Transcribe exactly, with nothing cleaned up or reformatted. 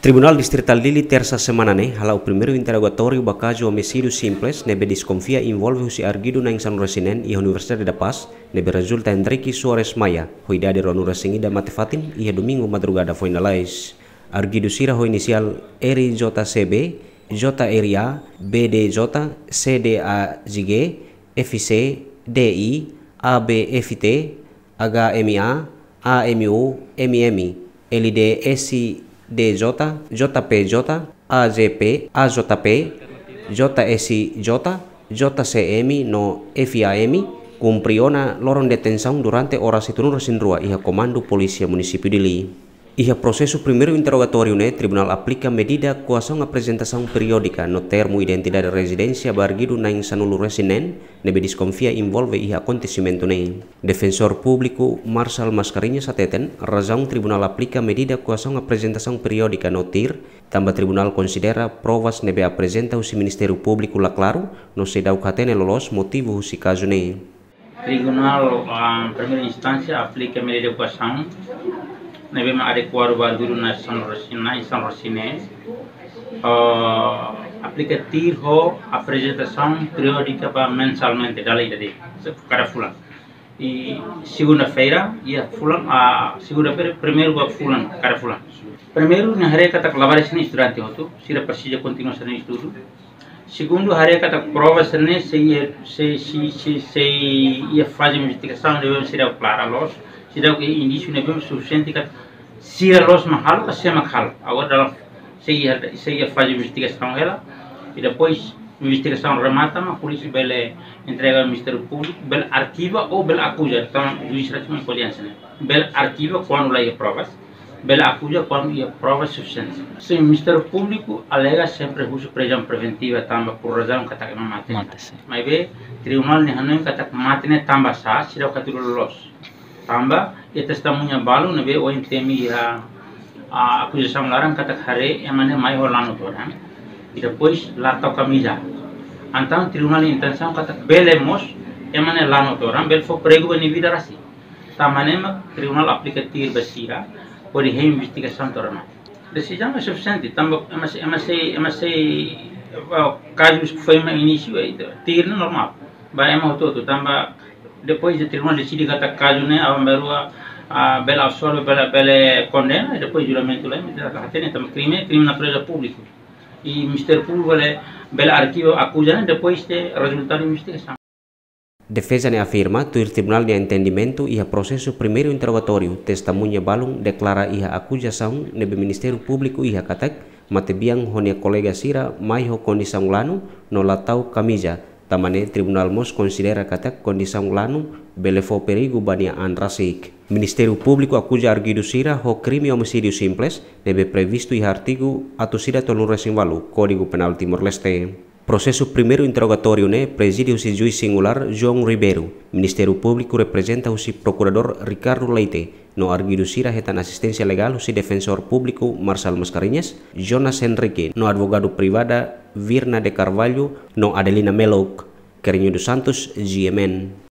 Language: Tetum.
Tribunál Distritál Dili, tersa semana ne'e, hala'o primeiru interrogatóriu ba kazu omisídiu simples ne'ebé deskonfia envolve husi arguidu na'in sanulu-resin-neen iha Universidade da Paz, ne'ebé rezulta Henrique Soares Maia, ho idade ruanulu-resin-ida, mate-fatin iha domingu madrugada foin lalais. Arguidu sira ho inisiál R J C B, J R A, B D J, C D A G, F C, D I, A B F T, H M A, A M U, M M, L D S D J, J P J, A J P, A J P, J S J, J C M no F A M, kumpre ona loron detensaun durante oras hitunulu-resin-rua iha Komandu Polísia Munisípiu Dili. Iha prosesu primeiru interrogatóriu ne'e, tribunál aplika medida koasaun aprezentasaun periódika no termu identidade rezidénsia ba arguidu na'in sanulu-resin-neen ne'ebé deskonfia envolve iha akontesimentu ne'e. Defensór Públiku Marçal Mascarenhas hateten, razaun tribunál aplika medida koasaun aprezentasaun periódika no TIR, tanba tribunál konsidera provas ne'ebé aprezenta husi Ministériu Públiku la klaru, no seidauk hatene loloos motivu husi kazu ne'e. Tribunál, ah, primeira instánsia aplika medida koasaun ne'ebé mak adekuadu ba arguidu na'in sanulu-resin-neen, na'in sanulu-resin-neen, ah, aplika TIR ho aprezentasaun periódika ba mensalmente, dala ida de'it, se-, kada fulan. I segunda-feira, iha fulan, ah, segunda-feira, primeiru ba fulan, kada fulan. Primeiru, nia haree katak labarik sira-ne'e estudante hotu, sira presiza kontinua sira-nia estudu. Segundu, haree katak prova sira-ne'e sei, sei, sei, sei, sei iha faze investigasaun, ne'ebé sira klara loos, sira iha indísiu ne'ebé sufisiente katak sira loos mak halo, ka sé mak halo. Agora dala sei iha, sei iha faze investigasaun hela, i depois investigasaun remata, mak polísia bele entrega Ministériu Públiku, bele arkiva ou bele akuza, entaun juís rasmi pode answer ne'e. Bele arkiva kuandu la iha provas, bele akuza kuandu iha provas sufisiente. Sin, Ministériu Públiku alega sempre husu prizaun preventiva tanba por razaun katak ema mate. Mate, sin. Maibé, tribunál nia hanoin katak mate ne'e tanba sá, seidauk hatudu loloos. Tanba, iha testemuña balu ne'ebé ohin temi iha, ah, akuzasaun laran katak haree ema ne'e mai ho lanu todan. I depois la tau kamiza. Entaun tribunál nia intensaun katak bele mós ema ne'e lanu todan, bele fó perigu ba nia vida rasik. Tanba ne'e mak tribunál aplika TIR ba sira, hodi hein investigasaun to'o remata. Desizaun ne'e sufisiente, tanba ema sei, ema sei, ema sei, ah, kazu foin mak inísiu, eh, TIR ne'e normál. Ba ema hotu-hotu, tanba depois de tribunál deside katak kazu ne'e, aban-bainrua, ah, bele absolve, bele, bele kondena, i depois julgamentu lai, ita la hatene, tanba krime, krime natureza públiku. I Ministériu Públiku bele, bele arkiva akuza ne'e depois de rezultadu investigasaun. Defeza ne'e afirma, tuir tribunál nia entendimentu, iha prosesu primeiru interrogatóriu, testemuña balun deklara iha akuzasaun ne'ebé Ministériu Públiku iha katak matebian ho nia kolega sira mai ho kondisaun lanu no la tau kamiza. Tanba ne'e tribunál mós konsidera katak kondisaun lanu bele fó perigu ba nia an rasik. Ministériu Públiku akuza arguidu sira ho krime omisídiu simples, ne'ebé previstu iha artigu atus ida tolunulu-resin-ualu Kódigu Penál Timor-Leste. Prosesu primeiru interrogatóriu ne'e prezide husi juís singulár João Ribeiro, Ministériu Públiku reprezenta husi Prokuradór Ricardo Leite, no arguidu sira hetan asisténsia legál husi Defensór Públiku Marçal Mascarenhas, Jonas Henrique, no advogadu privada Virna de Carvalho, no Adelina Meluk. Carreño dos Santos, G M N.